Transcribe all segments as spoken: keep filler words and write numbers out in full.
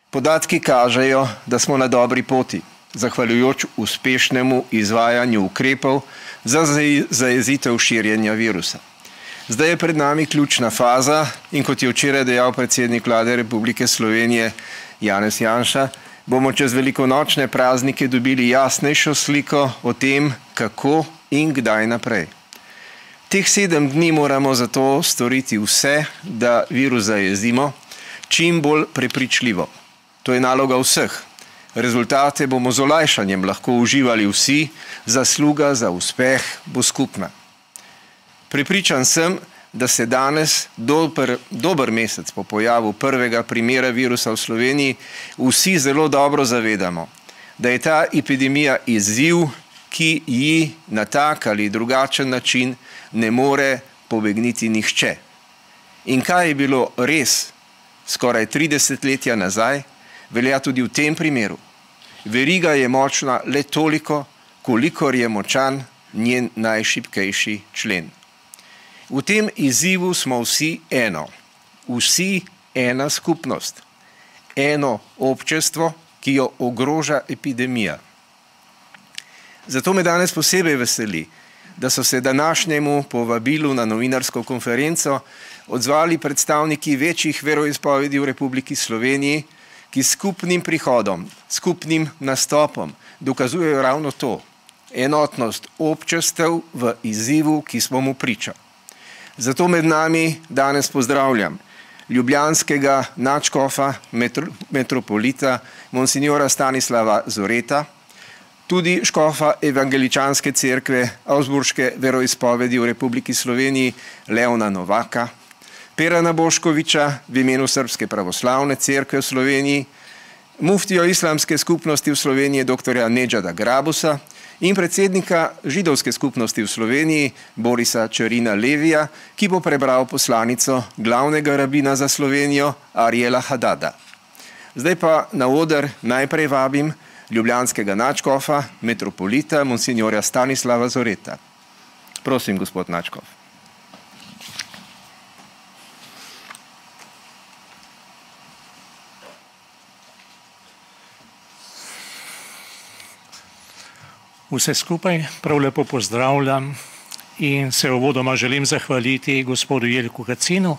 Podatki kažejo, da smo na dobri poti, zahvaljujoč uspešnemu izvajanju ukrepov za zajezitev širjenja virusa. Zdaj je pred nami ključna faza in kot je včeraj dejal predsednik Vlade Republike Slovenije Janez Janša, bomo čez velikonočne praznike dobili jasnejšo sliko o tem, kako in kdaj naprej. Teh sedem dni moramo zato storiti vse, da virus zajezimo, čim bolj prepričljivo. To je naloga vseh. Rezultate bomo z olajšanjem lahko uživali vsi, zasluga za uspeh bo skupna. Prepričan sem, da se danes, dober, dober mesec po pojavu prvega primera virusa v Sloveniji, vsi zelo dobro zavedamo, da je ta epidemija izziv, ki ji na tak ali drugačen način ne more pobegniti nihče. In kaj je bilo res skoraj tri desetletja nazaj, velja tudi v tem primeru. Veriga je močna le toliko, kolikor je močan njen najšibkejši člen. V tem izzivu smo vsi eno, vsi ena skupnost, eno občestvo, ki jo ogroža epidemija. Zato me danes posebej veseli, da so se današnjemu povabilu na novinarsko konferenco odzvali predstavniki večjih veroizpovedi v Republiki Sloveniji, ki skupnim prihodom, skupnim nastopom dokazujejo ravno to, enotnost občestev v izzivu, ki smo mu priča. Zato med nami danes pozdravljam ljubljanskega nadškofa metropolita monsignora Stanislava Zoreta, tudi škofa evangeličanske cerkve Avgsburške veroizpovedi v Republiki Sloveniji Leona Novaka, Perana Boškoviča v imenu Srpske pravoslavne cerkve v Sloveniji, muftijo islamske skupnosti v Sloveniji doktorja Nedžada Grabusa in predsednika židovske skupnosti v Sloveniji Borisa Čerina Levija, ki bo prebral poslanico glavnega rabina za Slovenijo Ariela Hadada. Zdaj pa na oder najprej vabim ljubljanskega nadškofa, metropolita, monsignorja Stanislava Zoreta. Prosim, gospod nadškof. Vse skupaj prav lepo pozdravljam in se uvodoma želim zahvaliti gospodu Jelku Kacinu,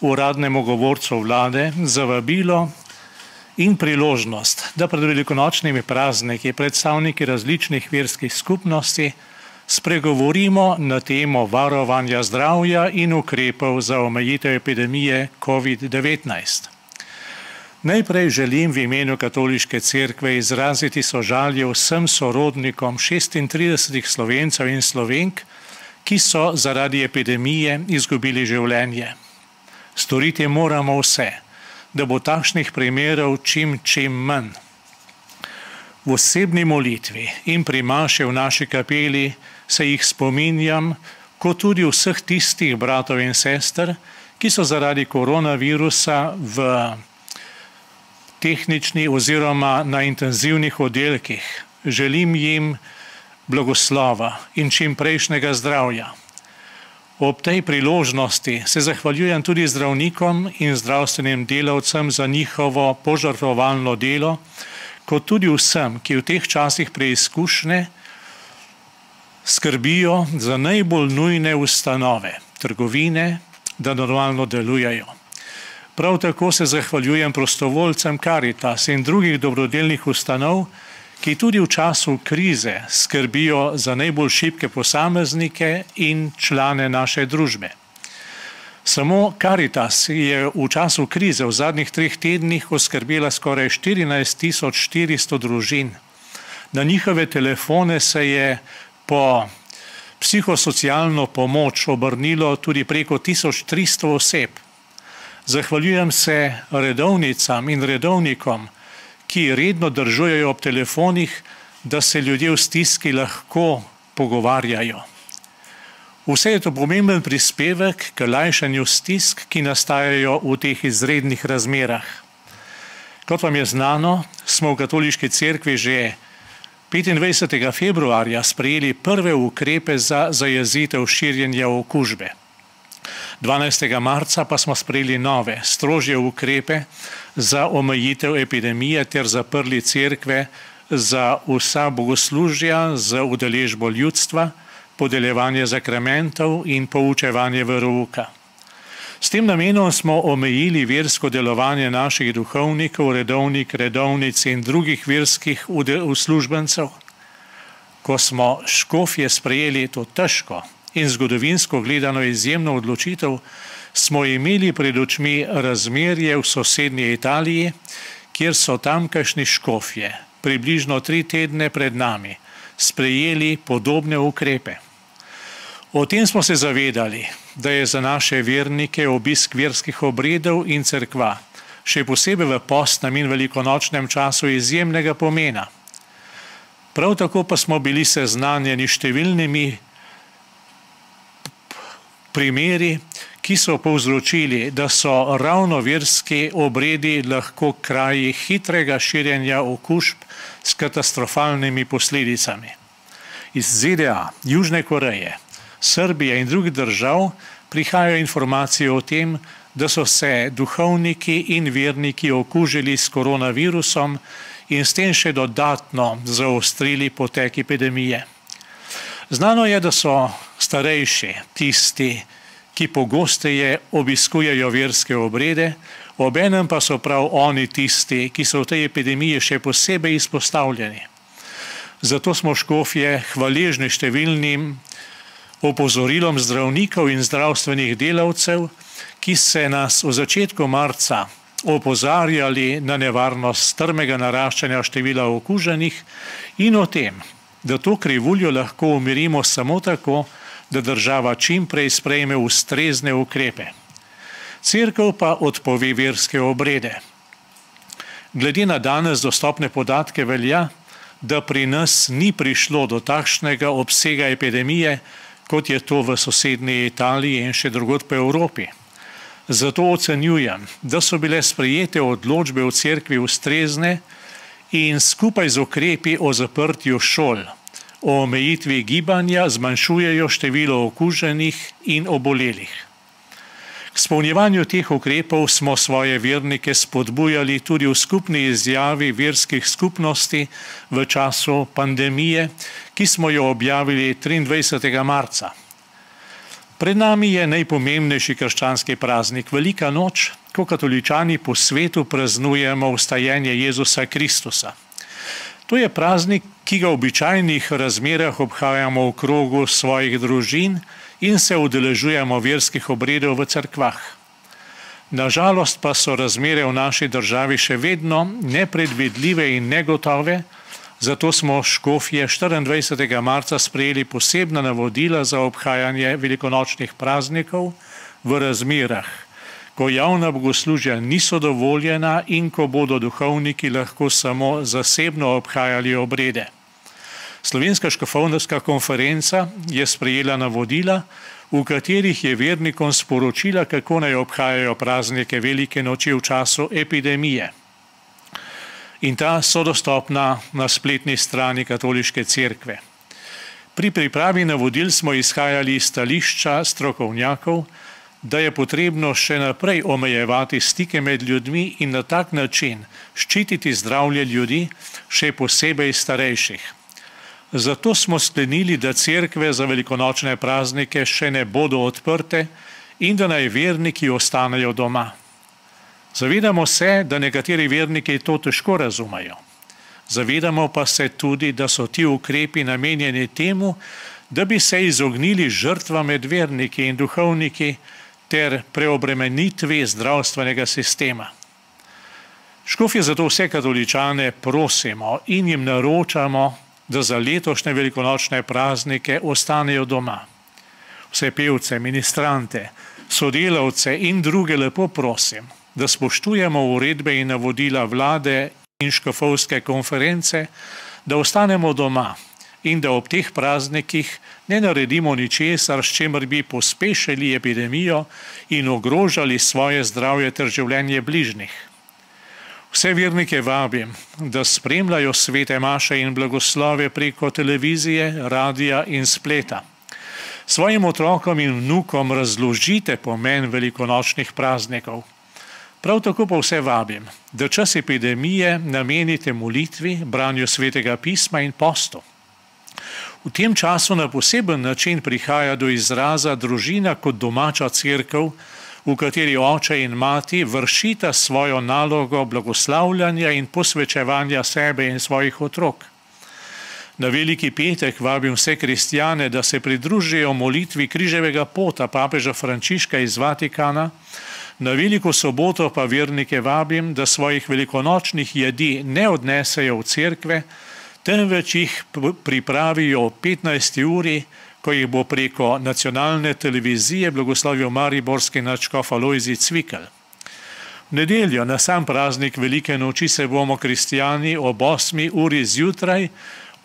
uradnemu govorcu vlade, za vabilo in priložnost, da pred velikonočnimi prazniki predstavniki različnih verskih skupnosti spregovorimo na temo varovanja zdravja in ukrepov za omejitev epidemije covid devetnajst. Najprej želim v imenu Katoliške cerkve izraziti sožalje vsem sorodnikom šestintridesetih Slovencev in Slovenk, ki so zaradi epidemije izgubili življenje. Storiti moramo vse, da bo takšnih primerov čim, čim manj. V osebni molitvi in pri maši v naši kapeli se jih spominjam, kot tudi vseh tistih bratov in sester, ki so zaradi koronavirusa v tehnični oziroma na intenzivnih oddelkih. Želim jim blagoslova in čim prejšnjega zdravja. Ob tej priložnosti se zahvaljujem tudi zdravnikom in zdravstvenim delavcem za njihovo požrtvovalno delo, kot tudi vsem, ki v teh časih preizkušnje skrbijo za najbolj nujne ustanove, trgovine, da normalno delujejo. Prav tako se zahvaljujem prostovoljcem Karitas in drugih dobrodelnih ustanov, ki tudi v času krize skrbijo za najbolj šibke posameznike in člane naše družbe. Samo Karitas je v času krize v zadnjih treh tednih oskrbela skoraj štirinajst tisoč štiristo družin. Na njihove telefone se je po psihosocialno pomoč obrnilo tudi preko tisoč tristo oseb. Zahvaljujem se redovnicam in redovnikom, ki redno držujejo ob telefonih, da se ljudje v stiski lahko pogovarjajo. Vse je to pomemben prispevek k lajšanju stisk, ki nastajajo v teh izrednih razmerah. Kot vam je znano, smo v Katoliški cerkvi že petindvajsetega februarja sprejeli prve ukrepe za zajezitev širjenja okužbe. dvanajstega marca pa smo sprejeli nove, strožje ukrepe za omejitev epidemije ter zaprli cerkve za vsa bogoslužja, za udeležbo ljudstva, podeljevanje zakramentov in poučevanje verouka. S tem namenom smo omejili versko delovanje naših duhovnikov, redovnik, redovnic in drugih verskih uslužbencev. Ko smo škofje sprejeli to težko in zgodovinsko gledano izjemno odločitev, smo imeli pred očmi razmerje v sosednji Italiji, kjer so tamkajšnji škofje približno tri tedne pred nami sprejeli podobne ukrepe. O tem smo se zavedali, da je za naše vernike obisk verskih obredov in cerkva, še posebej v postnem in velikonočnem času, izjemnega pomena. Prav tako pa smo bili seznanjeni številnimi primeri, ki so povzročili, da so ravno verski obredi lahko kraji hitrega širjenja okužb s katastrofalnimi posledicami. Iz Z D A, Južne Koreje, Srbije in drugih držav prihajajo informacije o tem, da so se duhovniki in verniki okužili s koronavirusom in s tem še dodatno zaostrili potek epidemije. Znano je, da so starejši tisti, ki pogosteje obiskujejo verske obrede, obenem pa so prav oni tisti, ki so v tej epidemiji še posebej izpostavljeni. Zato smo škofje hvaležni številnim opozorilom zdravnikov in zdravstvenih delavcev, ki se nas v začetku marca opozarjali na nevarnost strmega naraščanja števila okuženih in o tem, da to krivuljo lahko umirimo samo tako, da država čim prej sprejme ustrezne ukrepe. Cerkev pa odpove verske obrede. Glede na danes dostopne podatke velja, da pri nas ni prišlo do takšnega obsega epidemije, kot je to v sosednji Italiji in še drugod po Evropi. Zato ocenjujem, da so bile sprejete odločbe v cerkvi ustrezne in skupaj z ukrepi o zaprtju šol, o omejitvi gibanja zmanjšujejo število okuženih in obolelih. K izpolnjevanju teh ukrepov smo svoje vernike spodbujali tudi v skupni izjavi verskih skupnosti v času pandemije, ki smo jo objavili triindvajsetega marca. Pred nami je najpomembnejši krščanski praznik, Velika noč, ko katoličani po svetu praznujemo vstajenje Jezusa Kristusa. To je praznik, ki ga v običajnih razmerah obhajamo v krogu svojih družin in se udeležujemo verskih obredov v cerkvah. Nažalost pa so razmere v naši državi še vedno nepredvidljive in negotove, zato smo škofje štiriindvajsetega marca sprejeli posebna navodila za obhajanje velikonočnih praznikov v razmerah, ko javna bogoslužja niso dovoljena in ko bodo duhovniki lahko samo zasebno obhajali obrede. Slovenska škofovska konferenca je sprejela navodila, v katerih je vernikom sporočila, kako naj obhajajo praznike velike noči v času epidemije. In ta so dostopna na spletni strani Katoliške cerkve. Pri pripravi navodil smo izhajali iz stališča strokovnjakov, da je potrebno še naprej omejevati stike med ljudmi in na tak način ščititi zdravje ljudi, še posebej starejših. Zato smo sklenili, da cerkve za velikonočne praznike še ne bodo odprte in da naj verniki ostanejo doma. Zavedamo se, da nekateri verniki to težko razumejo. Zavedamo pa se tudi, da so ti ukrepi namenjeni temu, da bi se izognili žrtvam med verniki in duhovniki ter preobremenitvi zdravstvenega sistema. Škofje zato vse katoličane prosimo in jim naročamo, da za letošnje velikonočne praznike ostanejo doma. Vse pevce, ministrante, sodelavce in druge lepo prosim, da spoštujemo uredbe in navodila vlade in škofovske konference, da ostanemo doma in da ob teh praznikih ne naredimo ničesar, s čimer bi pospešili epidemijo in ogrožali svoje zdravje ter življenje bližnjih. Vse vernike vabim, da spremljajo svete maše in blagoslove preko televizije, radija in spleta. Svojim otrokom in vnukom razložite pomen velikonočnih praznikov. Prav tako pa vse vabim, da čas epidemije namenite molitvi, branju svetega pisma in postu. V tem času na poseben način prihaja do izraza družina kot domača cerkev, v kateri oče in mati vršita svojo nalogo blagoslavljanja in posvečevanja sebe in svojih otrok. Na Veliki petek vabim vse kristjane, da se pridružijo molitvi križevega pota papeža Frančiška iz Vatikana. Na Veliko soboto pa vernike vabim, da svojih velikonočnih jedi ne odnesejo v cerkve, temveč jih pripravijo o petnajsti uri, ko jih bo preko nacionalne televizije blagoslovil mariborski nadškof Alojzij Cvikl. V nedeljo na sam praznik Velike noči se bomo kristjani ob osmi uri zjutraj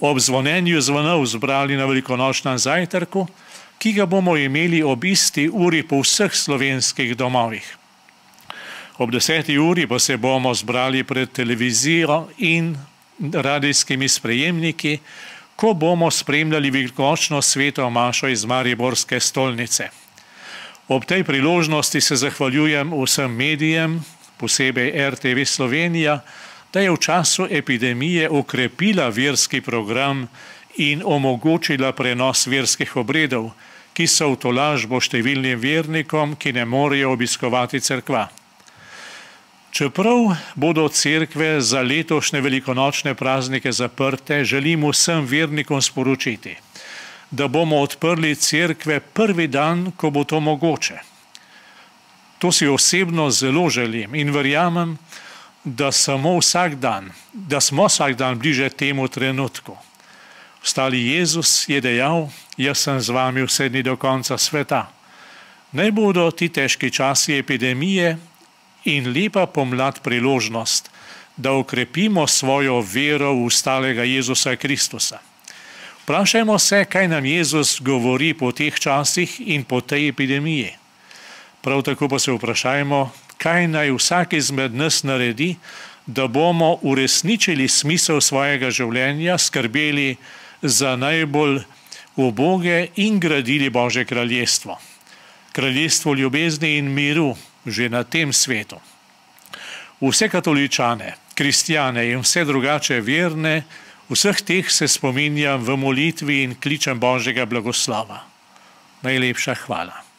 ob zvonjenju zvonov zbrali na velikonočnem zajtrku, ki ga bomo imeli ob isti uri po vseh slovenskih domovih. Ob deseti uri pa se bomo zbrali pred televizijo in radijskimi sprejemniki, ko bomo spremljali velikonočno sveto mašo iz mariborske stolnice. Ob tej priložnosti se zahvaljujem vsem medijem, posebej R T V Slovenija, da je v času epidemije okrepila verski program in omogočila prenos verskih obredov, ki so v tolažbo številnim vernikom, ki ne morejo obiskovati cerkva. Čeprav bodo cerkve za letošnje velikonočne praznike zaprte, želim vsem vernikom sporočiti, da bomo odprli cerkve prvi dan, ko bo to mogoče. To si osebno zelo želim in verjamem, da samo vsak dan, da smo vsak dan bliže temu trenutku. Vstali Jezus je dejal, jaz sem z vami vse dni do konca sveta. Naj bodo ti težki časi epidemije in lepa pomlad priložnost, da okrepimo svojo vero v vstalega Jezusa Kristusa. Vprašajmo se, kaj nam Jezus govori po teh časih in po tej epidemiji. Prav tako pa se vprašajmo, kaj naj vsak izmed nas naredi, da bomo uresničili smisel svojega življenja, skrbeli za najbolj uboge in gradili Božje kraljestvo. Kraljestvo ljubezni in miru že na tem svetu. Vse katoličane, kristjane in vse drugače verne, vseh teh se spominjam v molitvi in kličem Božjega blagoslova. Najlepša hvala.